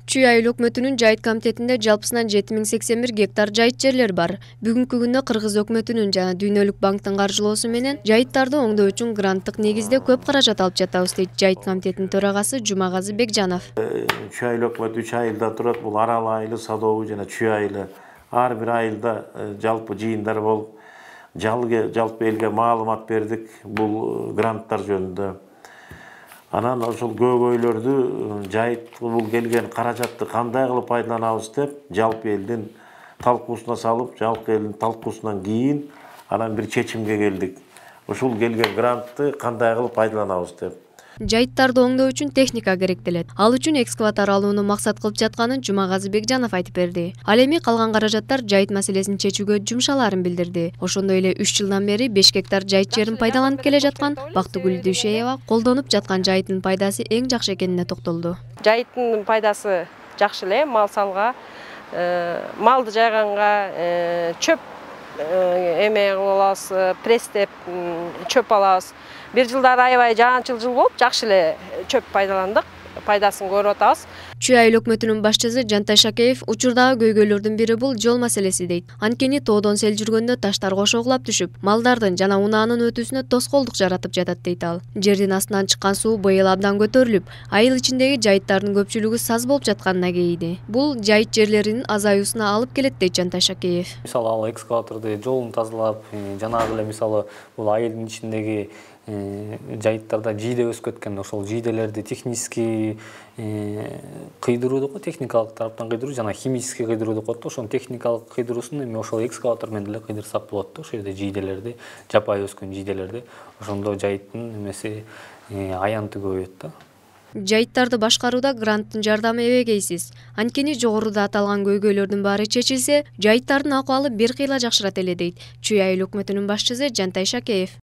Чүй айыл өкмөтүнүн жайыт комитетинде жалпысынан 7081 гектар жайыт жерлер бар. Бүгүнкү күндө Кыргыз өкмөтүнүн жана Дүйнөлүк банктын каржылоосу менен жайыттарды оңдоо үчүн гранттык негизде көп каражат алып жатабыз дейт жайыт комитетинин төрагасы Жумагазы Бекжанов. Чүй айыл өкмөтү 3 айылдан турат. Бул Арал айылы, Садовый жана Чүй айылы. Ар бир айылда жалпы жыйындар болуп, жалпы элге маалымат бердик бул гранттар жөнүндө. Анан ошол көйгөйлөрдү жайыт бул келген каражатты кандай кылып пайдаланабыз деп жалпы элдин талкуусуна салып, жалпы элдин талкуусунан кийин анан бир чечимге келдик. Ушул келген грантты кандай кылып пайдаланабыз деп. Жайыттарды оңдоо үчүн техника керектелет. Ал үчүн экскаватор алууну максат кылып жатканын Жумагазы Бекжанов айтып берди. Ал эми калган каражаттар жайыт маселесин чечүүгө жумшалаарын билдирди. Ошондой эле 3 жылдан бери 5 гектар жайыт жерин пайдаланып келе жаткан Бактыгүл Дүйшеева колдонуп жаткан жайыттын пайдасы эң жакшы экенине токтолду. Жайыттын пайдасы жакшы эле, мал салга, малды жайганга, чөп эме алабыз, пресстеп чөп алабыз. Бир жылдары аябай жаанчыл жыл болуп, жакшы эле чөп пайдаландык, пайдасын көрүп атабыз. Чүй айыл өкмөтүнүн башчысы Жантай Шакеев учурдагы көйгөйлөрдүн бири бул жол маселеси дейт. Анткени тоодон сел жүргөндө таштар кошоглап түшүп, малдардын жана унаанын өтүүсүнө тоскоолдук жаратып жатат дейт ал. Жердин астынан чыккан суу быйыл абдан көтөрүлүп, айыл ичиндеги жайыттардын көпчүлүгү саз болуп жатканына кейиди. Бул жайыт жерлеринин азаюусуна алып келет дейт Жантай Шакеев. Мисалы ал экскаваторду жолун тазалап, жанагы эле мисалы бул айылдын ичиндеги жайыттарда жийде өсүп кеткен, ошол жийделерди технический кыйдыруу деп коет, техникалык тараптан кыйдыруу жана химический кыйдыруу деп коет. Ошонун техникалык кыйдыруусун эми ошол экскаватор менен деле кыйдырсак болот да, ошол жерде жийделерди, жапайы өскөн жийделерди. Ошондо жайыттын эмеси аянты көбөйөт да. Жайыттарды башкарууда гранттын жардамы эбегейсиз. Анткени жогоруда аталган көйгөйлөрдүн баары чечилсе, жайыттардын акыбалы бир кыйла жакшырат эле дейт Чүй айыл өкмөтүнүн башчысы Жантай Шакеев.